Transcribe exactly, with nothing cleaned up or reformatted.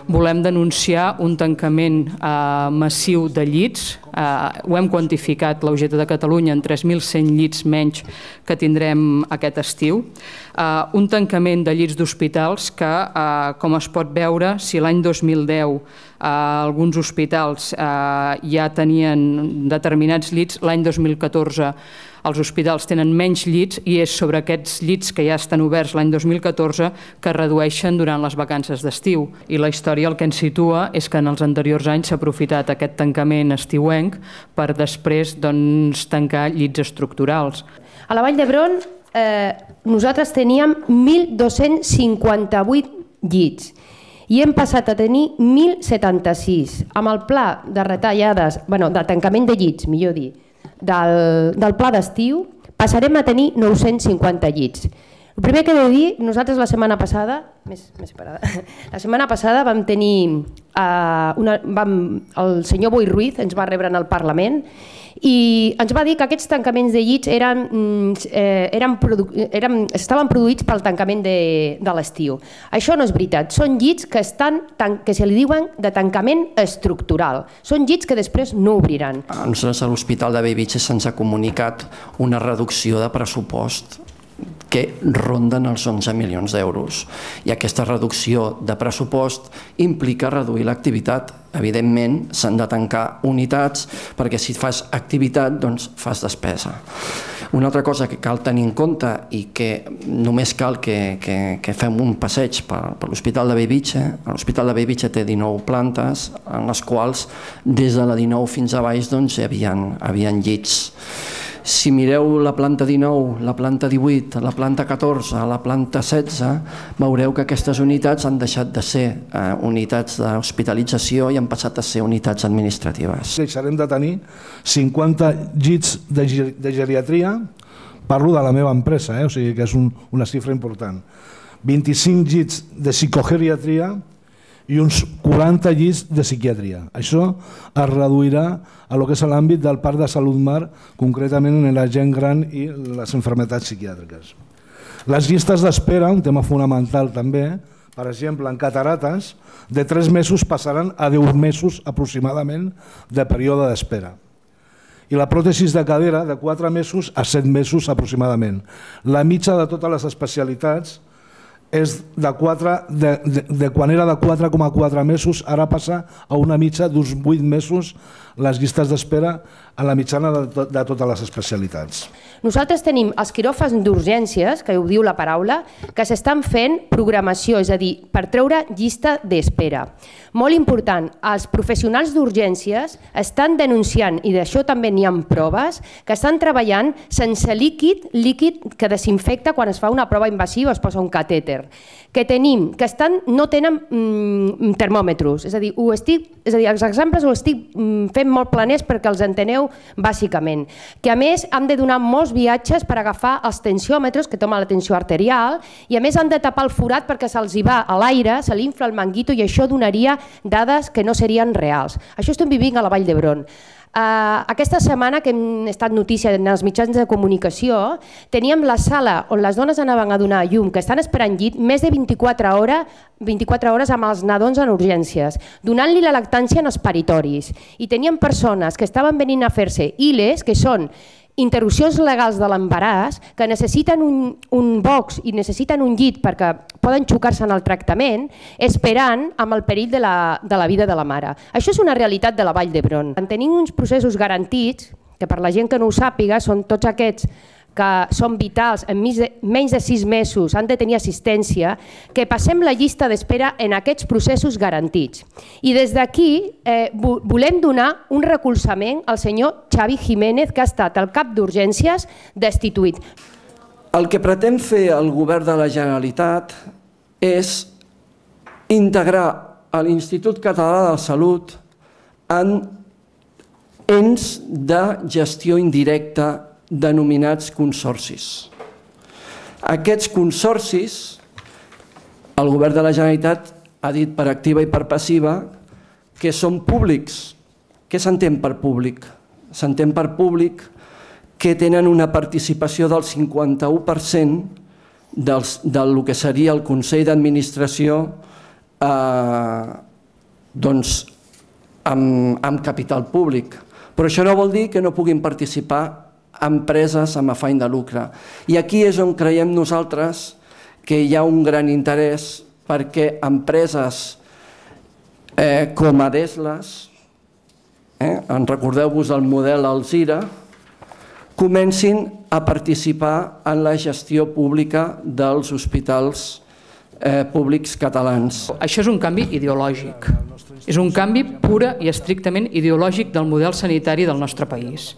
volem denunciar un tancament massiu de llits. Ho hem quantificat, la U G T de Catalunya, en tres mil cent llits menys que tindrem aquest estiu. Un tancament de llits d'hospitals que, com es pot veure, si l'any dos mil deu alguns hospitals ja tenien determinats llits, l'any dos mil catorze els hospitals tenen menys llits i és sobre aquests llits que ja estan oberts l'any dos mil catorze que es redueixen durant les vacances d'estiu. I la història el que ens situa és que en els anteriors anys s'ha aprofitat aquest tancament estiuenc per després tancar llits estructurals. A la Vall d'Hebron nosaltres teníem mil dos-cents cinquanta-vuit llits i hem passat a tenir mil setanta-sis. Amb el pla de retallades, bueno, de tancament de llits, millor dir, del, del pla d'estiu, passarem a tenir nou-cents cinquanta llits. El primer que he de dir, nosaltres la setmana passada, més, més separada, la setmana passada vam tenir, uh, una, vam, el senyor Boi Ruiz ens va rebre en el Parlament i ens va dir que aquests tancaments de llits eren, eh, eren, eren, estaven produïts pel tancament de, de l'estiu. Això no és veritat, són llits que, estan, que se li diuen de tancament estructural, són llits que després no obriran. A nosaltres a l'Hospital de Bellvitge se'ns ha comunicat una reducció de pressupost que ronden els onze milions d'euros. I aquesta reducció de pressupost implica reduir l'activitat. Evidentment, s'han de tancar unitats perquè si fas activitat, doncs fas despesa. Una altra cosa que cal tenir en compte i que només cal que, que, que fem un passeig per, per l'Hospital de Bellvitge. L'Hospital de Bellvitge té dinou plantes, en les quals des de la dinou fins a baix doncs, hi havia, havia llits. Si mireu la planta dinou, la planta divuit, la planta catorze, la planta setze, veureu que aquestes unitats han deixat de ser eh, unitats d'hospitalització i han passat a ser unitats administratives. Deixarem de tenir cinquanta llits de, de geriatria, parlo de la meva empresa, eh? O sigui que és un, una xifra important. vint-i-cinc llits de psicogeriatria i uns quaranta llits de psiquiatria. Això es reduirà a lo que és l'àmbit del Parc de Salut Mar, concretament en la gent gran i les malalties psiquiàtriques. Les llistes d'espera, un tema fonamental també, per exemple, en catarates, de tres mesos passaran a deu mesos aproximadament de període d'espera. I la pròtesis de cadera de quatre mesos a set mesos aproximadament. La mitja de totes les especialitats és de, quatre, de, de, de quan era de quatre coma quatre mesos, ara passa a una mitja d'uns vuit mesos les llistes d'espera a la mitjana de, to, de totes les especialitats. Nosaltres tenim els quiròfans d'urgències, que ho diu la paraula, que s'estan fent programació, és a dir, per treure llista d'espera. Molt important, els professionals d'urgències estan denunciant, i d'això també n'hi ha proves, que estan treballant sense líquid, líquid que desinfecta quan es fa una prova invasiva o es posa un catèter, que tenim, que estan, no tenen mm, termòmetres, és a dir, ho estic, és a dir, els exemples ho estic mm, fent molt planers perquè els enteneu bàsicament, que a més han de donar molts viatges per agafar els tensiòmetres que tomen la tensió arterial i a més han de tapar el forat perquè se'ls hi va a l'aire, se li infla el manguito i això donaria dades que no serien reals. Això estem vivint a la Vall d'Hebron. Uh, aquesta setmana que hem estat notícia en els mitjans de comunicació, teníem la sala on les dones anaven a donar llum, que estan esperant llit, més de vint-i-quatre hores, vint-i-quatre hores amb els nadons en urgències, donant-li la lactància en els paritoris. I teníem persones que estaven venint a fer-se I L Es, que són interrupcions legals de l'embaràs, que necessiten un, un box i necessiten un llit perquè poden xocar-se en el tractament, esperant amb el perill de la, de la vida de la mare. Això és una realitat de la Vall d'Hebron. Tenim uns processos garantits, que per la gent que no ho sàpiga, són tots aquests que són vitals, en menys de sis mesos han de tenir assistència, que passem la llista d'espera en aquests processos garantits. I des d'aquí eh, volem donar un recolzament al senyor Xavi Jiménez, que ha estat el cap d'urgències destituït. El que pretén fer el govern de la Generalitat és integrar l'Institut Català de la Salut en ens de gestió indirecta denominats consorcis. Aquests consorcis, el govern de la Generalitat ha dit per activa i per passiva que són públics. Què s'entén per públic? S'entén per públic que tenen una participació del cinquanta-u per cent del que seria el Consell d'Administració doncs, amb, amb capital públic. Però això no vol dir que no puguin participar empreses amb afany de lucre. I aquí és on creiem nosaltres que hi ha un gran interès perquè empreses eh, com Adeslas, eh, en recordeu-vos el model Alzira, comencin a participar en la gestió pública dels hospitals eh, públics catalans. Això és un canvi ideològic. És un canvi pura i estrictament ideològic del model sanitari del nostre país.